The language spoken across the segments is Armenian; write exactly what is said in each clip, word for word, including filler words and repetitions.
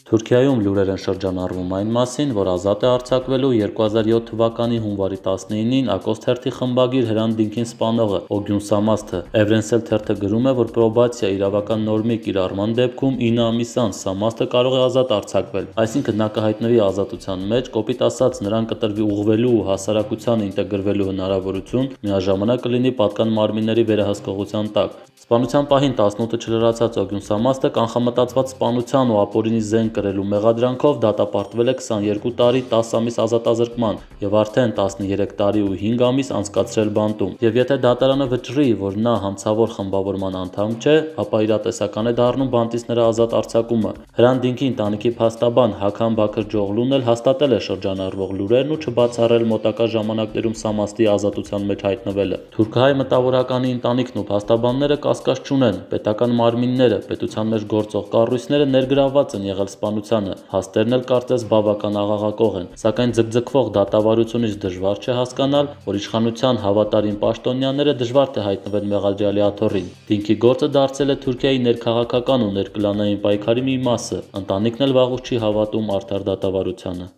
Թուրքիայում լուրեր են շրջանառվում այն մասին, որ ազատ է արձակվելու երկու հազար յոթ թվականի հունվարի տասնինին Ակոստ թերթի խմբագիր Հրանտ Դինքին սպանողը Օգյուն Սամասթը Էվրենսել թերթը գրում է, որ պրոբացիա իրավական նորմի կիրառման դեպքում ինը ամիս անց Սամասթը կարող է ազատ արձակվել, այսինքն նա կհայտնվի ազատության մեջ, կոպիտ ասած նրան կտրվի ուղղվելու ու հասարակությանը ինտեգրվելու հնարավորություն, միաժամանակ կլինի պատկան մարմինների վերահսկողության տակ։ Սպանության պահին տասնութը չլրացած Օգյուն Սամասթը կանխամտածված սպանության ու ապօրինի զենք կրելու մեղադրանքով դատապարտվել է քսաներկու տարի տասը ամիս ազատազրկման եւ արդեն տասներեք տարի ու հինգ ամիս անցկացրել բանտում։ Եվ եթե դատարանը վճռի, որ նա հանցավոր խմբավորման անդամ չէ, ապա իրատեսական է դառնում բանտիստների ազատ արձակումը։ Հրանտ Դինքի ընտանիքի փաստաբան Հաքամ Բաքր-Ջողլուն էլ հաստատել է շրջանառվող լուրերն ու չբացառել մոտակա ժամանակներում Սամասթի ազատության մեջ հայտնվելը։ Թուրքահայ մտավորականի ընտանիքն ու փաստաբանները կասկած չունեն, պետական մարմինները, պետության մեջ գործող կառույցները ներգրավված են եղել սպանությանը, հաստերն էլ կարծես բավական աղաղակող են, սակայն ձգձգվող դատավարությունից դժվար չէ հասկանալ, որ իշխանության հավատարիմ պաշտոնյաները դժվար թե հայտնվեն մեղադրյալի աթոռին։ Դինքի գործը դարձել է Թուրքիայի ներքաղաքական ու ներկլանային պայքարի մի մասը, ընտանիքն էլ վաղուց չի հավատում արդար դատավարությանը։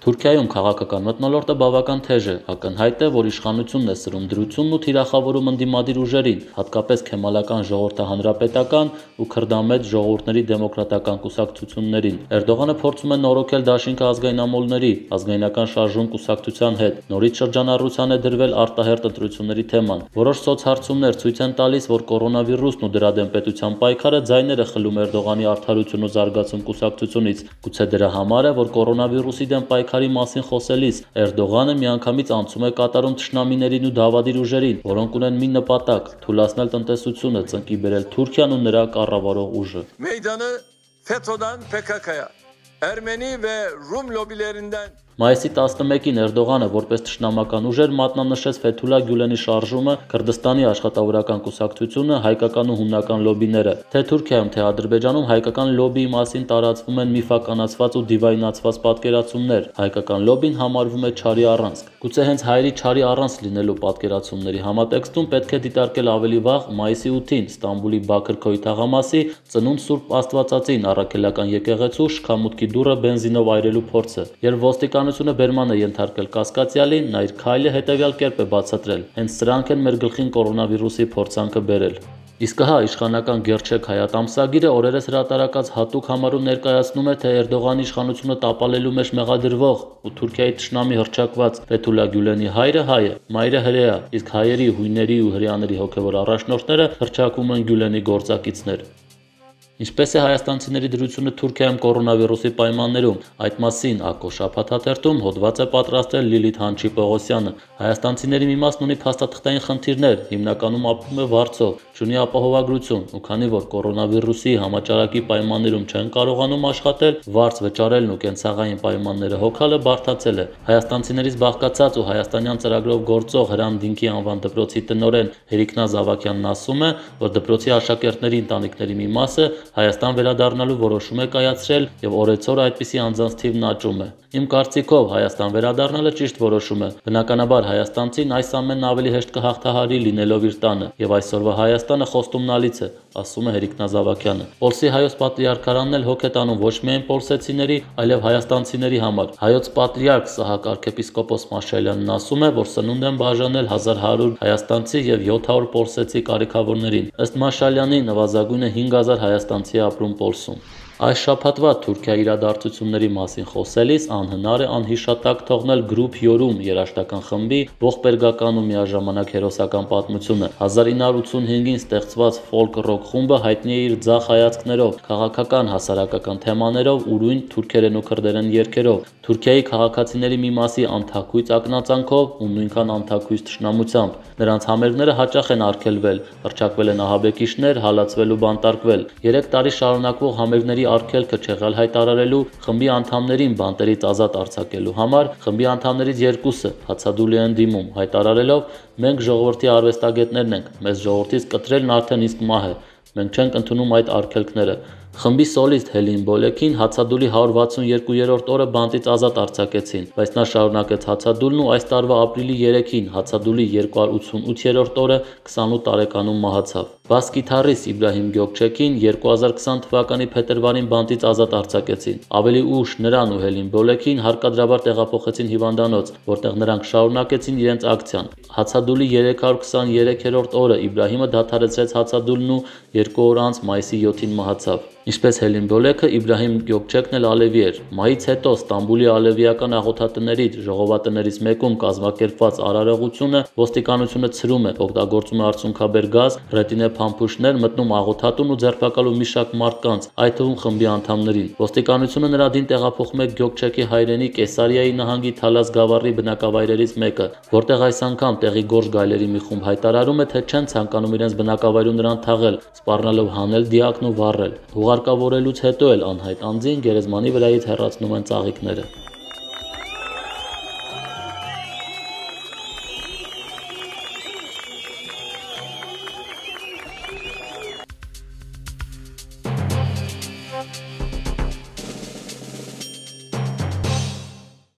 Թուրքիայում քաղաքական մթնոլորտը բավական թեժ է, ակնհայտ է, որ իշխանությունն է սրում դրությունն ու թիրախավորում ընդդիմադիր ուժերին, հատկապես Քեմալական ժողովրդահանրապետական ու քրդամետ ժողովուրդների դեմոկրատական կուսակցություններին։ Էրդողանը փորձում է նորոգել դաշինքը ազգայնամոլների, ազգայնական շարժում կուսակցության հետ, նորից շրջանառության է դրվել արտահերտ ընտրությունների թեման։ Որոշ սոցհարցումներ ցույց են տալիս, որ կորոնավիրուսն ու դրա դեմ պետության պայքարը ձայներ է խլում Էրդողանի Արդարություն ու զարգացում կուսակցությունից։ Գուցե դրա համար է, որ կորոնավիրուսի դեմ պայքարի մասին խոսելիս Էրդողանը միանգամից անցում է կատարում թշնամիներին ու դավադիր ուժերին, որոնք ունեն մի նպատակ՝ թուլացնել տնտեսությունը, ծնկի բերել Թուրքիան ու նրա կառավարող ուժը։ Meydanı FETÖ'den P K K'ya, Ermeni ve Rum lobilerinden Մայիսի տասնմեկին Էրդողանը որպես թշնամական ուժեր մատնանշեց Ֆեթուլա Գյուլենի շարժումը, Քրդստանի աշխատավորական կուսակցությունը, հայկական ու հունական լոբիները։ Թե Թուրքիայում, թե Ադրբեջանում հայկական լոբիի մասին տարածվում են միֆականացված ու դիվայնացված պատկերացումներ։ Հայկական լոբին համարվում է չարի առանցք։ Գուցե հենց հայերի չարի առանցք լինելու պատկերացումների համատեքստում պետք է դիտարկել ավելի վաղ մայիսի ութին Ստամբուլի Բաքր-Քոյ թաղամասի ծնունդ Սուրբ Աստվածածին առաքելական եկեղեցու շքամուտքի դուռը բենզինով այրելու փորձը, երբ ոստիկանությունը բերման է ենթարկել կասկածյալին, նա իր քայլը հետևյալ կերպ է բացատրել. հենց սրանք են մեր գլխին կորոնավիրուսի փորձանքը բերել։ Իսկ հա իշխանական Գերչեկ Հայատ ամսագիրը օրերս հրատարակած հատուկ համարում ներկայացնում է, թե Էրդողանի իշխանությունը տապալելու մեջ մեղադրվող ու Թուրքիայի թշնամի հռչակված Ֆեթուլա Գյուլենի հայրը հայ է, մայրը հրեա, իսկ հայերի, հույների ու հրեաների հոգևոր առաջնորդները հռչակում են Գյուլենի գործակիցներ։ Ինչպես է հայաստանցիների դրությունը Թուրքիայում կորոնավիրուսի պայմաններում, այդ մասին Ակո շաբաթաթերթում հոդված է պատրաստել Լիլիթ Հանչի-Պողոսյանը։ Հայաստանցիների մի մասն ունի փաստաթղթային խնդիրներ, հիմնականում ապրում է Վարձով, չունի ապահովագրություն, ու քանի որ կորոնավիրուսի համաճարակի պայմաններում չեն կարողանում աշխատել, վարձ վճարելն ու կենցաղային պայմանները հոգալը բարդացել է։ Հայաստանցիներից բաղկացած ու հայաստանյան ծրագրով գործող Հրանտ Դինքի անվան դպրոցի տնօրեն Հերիկնազ Ավագյանն ասում է, որ դպրոցի աշակերտների ընտանիքների մի մասը Հայաստան վերադառնալու որոշում է կայացրել եւ օրեցօր այդպիսի անձանց թիվն աճում է։ Իմ կարծիքով Հայաստան վերադառնալը ճիշտ որոշում է։ Բնականաբար հայաստանցին այս ամենն ավելի հեշտ կհաղթահարի լինելով իր տանը, եւ այսօրվա Հայաստանը խոստումնալից է, ասում է Հերիկնազ Ավագյանը։ Պոլսի հայոց պատրիարքարանն էլ հոգ է տանում ոչ միայն պոլսեցիների, այլև հայաստանցիների համար։ Հայոց պատրիարք Սահակ arczepiskopos Մաշալյանն ասում է, որ սնունդ են բաժանել հազար հարյուր հայաստանցի եւ յոթ հարյուր պոլսեցի կարիքավորներին։ Ըստ Մաշալյանի նվազագույնը հինգ հազար հայաստանցի ապրում Պոլսում։ Այս շաբաթվա Թուրքիայի իրադարձությունների մասին խոսելիս անհնար է անհիշատակ թողնել Group Yorum երաժշտական խմբի ողբերգական ու միաժամանակ հերոսական պատմությունը։ հազար ինը հարյուր ութսունհինգին ստեղծված ֆոլք ռոք խումբը հայտնի է իր ձախ հայացքներով, քաղաքական, հասարակական թեմաներով, ուրույն թուրքերեն ու քրդերեն երգերով, Թուրքիայի քաղաքացիների մի մասի անթաքույց ակնածանքով ու նույնքան անթաքույց թշնամությամբ։ Նրանց համերգները հաճախ են արգելվել, հռչակվել են ահաբեկիչներ, հալածվել ու բանտարկվել։ Երեք տարի շարունակվող համերգների արգելքը չեղյալ հայտարարելու, խմբի անդամներին բանտերից ազատ արձակելու համար խմբի անդամներից երկուսը հացադուլի են դիմում, հայտարարելով. մենք ժողովրդի արվեստագետներն ենք, մեզ ժողովրդից կտրելն արդեն իսկ մահ է, մենք չենք ընդունում այդ արգելքները։ Խմբի սոլիստ Հելին Բոլեքին հացադուլի հարյուր վաթսունյոթերորդ օրը բանտից ազատ արձակեցին, բայց նա շարունակեց հացադուլն ու այս տարվա ապրիլի երեքին հացադուլի երկու հարյուր ութսունութերորդ օրը քսանութ տարեկանում մահացավ։ Բաս գիտարիստ Իբրահիմ Գյոքչեքին երկու հազար քսան թվականի փետրվարին բանտից ազատ արձակեցին։ Ավելի ուշ նրան ու Հելին Բոլեքին հարկադրաբար տեղափոխեցին հիվանդանոց, որտեղ նրանք շարունակեցին իրենց ակցիան։ Հացադուլի երեք հարյուր քսաներորդ օրը Իբրահիմը դադարեցրեց հացադուլն ու երկու օր անց մայիսի յոթին մահացավ։ Ինչպես Հելին Բոլեքը, Իբրահիմ Գյոքչեքն էլ ալևի էր։ Մայից հետո Ստամբուլի ալևիական աղոթատներից ժողովածուներից մեկում կազմակերպված արարողությունը ոստիկանությունը ցրում է, օգտագործում է արցունքաբեր գազ, ռետինե փամփուշտներ, մտնում աղոթատուն ու ձերբակալում մի շարք մարդկանց, այդ թվում խմբի անդամներին։ Ոստիկանությունը նրա դին տեղափոխում է Գյոքչեքի հայրենի Կեսարիայի նահանգի Թալաս գավառի բնակավայրերից մեկը, որտեղ այս անգամ տեղի գորշ գայլերի մի խումբ հայտարարում է, թե չեն ցանկանում իրենց բնակավայրում նրան թաղել, սպառնալով հանել դիակն ու վառել։ Ուղարկավորելուց հետո էլ անհայտ անձին գերեզմանի վրայից հեռացնում են ծաղիկները։